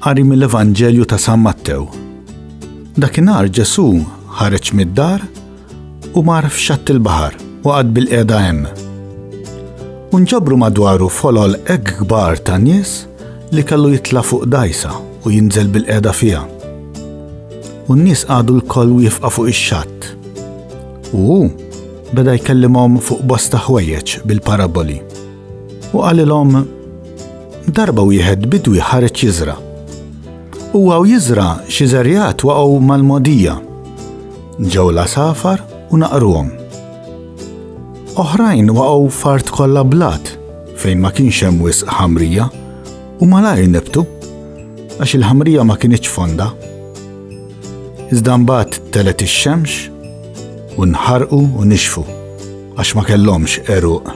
Qari mill-Evanġelju ta' San Mattew. Dakinhar Ġesù ħareġ mid-dar u mar f'xatt il-baħar u qagħad bilqiegħda hemm. U nġabru madwaru folol hekk kbar ta' nies li kellu jitla' fuq dgħajsa u jinżel bilqiegħda fiha. U n-nies qagħdu lkoll wieqfa fuq ix-xatt. U hu beda jkellimhom fuq bosta ħwejjeġ bil-paraboli. U qalilhom, Darba wieħed bidwi ħareġ jiżra'. Huwa u jiżra' xi żerriegħat waqgħu mal-mogħdija. Ġew l-għasafar u naqruhom. Oħrajn waqgħu f'art kollha blat fejn ma kienx hemm wisq ħamrija u malajr nibtu għax il-ħamrija ma kinitx fonda. Iżda mbagħad telet ix-xemx u nħarqu u nixfu għax ma kellhomx għeruq.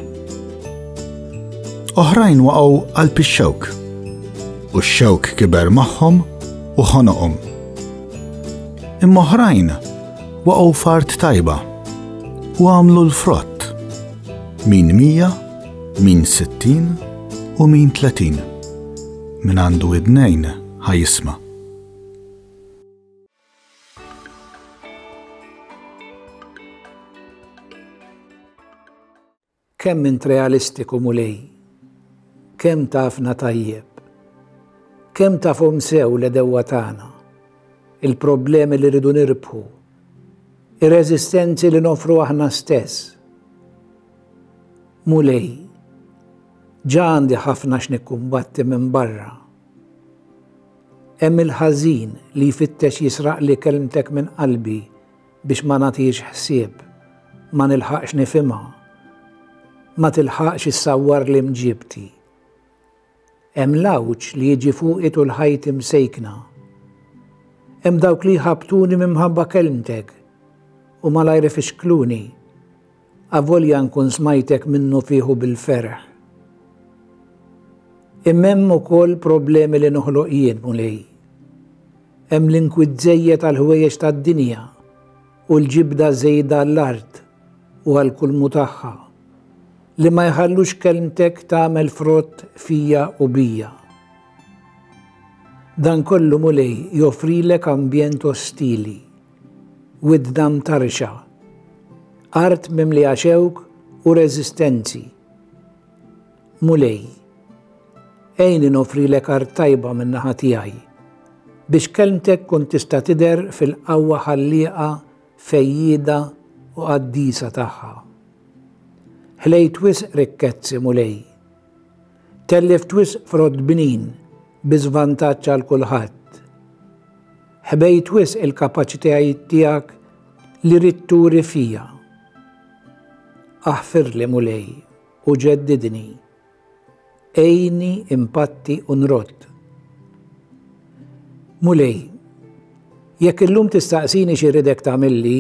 Oħrajn waqgħu qalb ix-xewk u x-xewk kiber magħhom u ħonoqhom. Imma oħrajn waqgħu f'art tajba u għamlu l-frott, min 100, min 60 u min 30. Min għandu widnejn ħa jisma'. Kemm int realistiku Mulej! Kemm tafna tajjeb! Kemm tafhom sew l-għedewwa tagħna, il-problemi li rridu nirbħu, ir-reżistenzi li noffru aħna stess. Mulej, ġa għandi ħafna x'nikkumbatti minn barra. Hemm il-ħażin li jfittex jisraqli kelmtek minn qalbi biex ma nagħtihiex ħsieb, ma nilħaqx nifhimha, ma tilħaqx issawwarli mġiebti. Hemm l-għawġ li jiġi fuqi tul ħajti msejkna. Hemm dawk li jħabbtuni minħabba kelmtek u malajr ifixkluni, avolja nkun smajtek minnufih u bil-ferħ. Imma hemm ukoll problemi li noħloq jien, Mulej. Hemm l-inkwiet żejjed għall-ħwejjeġ tad-dinja u l-ġibda żejda għall-art u għal kull mhu tagħha, li ma jħallux kelmtek tagħmel frott fija u bija. Dan kollu, Mulej, joffrilek ambjent ostili, widna mtarrxa, art mimlija xewk u reżistenzi. Mulej, għinni noffrilek art tajba min-naħa tiegħi, biex kelmtek tkun tista' tidher fil-qawwa ħallieqa, fejjieda u qaddisa tagħha. Ħlejt wisq rikkezzi, Mulej. Tellift wisq frott bnin bi żvantaġġ għal kulħadd. Ħbejt wisq il-kapaċitajiet tiegħek li ridt turi fija. Aħfirli, Mulej, u ġeddidni. Għinni impatti u nrodd. Mulej, jekk illum tistaqsini xi rridek tagħmilli,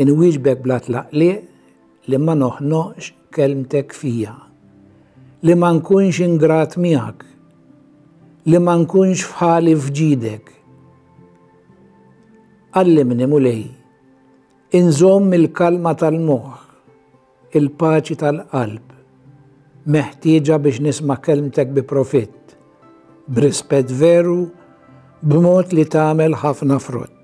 inwieġbek bla tlaqliq li ma noħnoqx kelmtek fija, li ma nkunx ingrat miegħek, li ma nkunx f'ħali f'ġidek. Għallimni, Mulej, inżomm il-kalma tal-moħħ, il-paċi tal-qalb, meħtieġa biex nisma' kelmtek bi profitt, b'rispett veru, b'mod li tagħmel ħafna frott.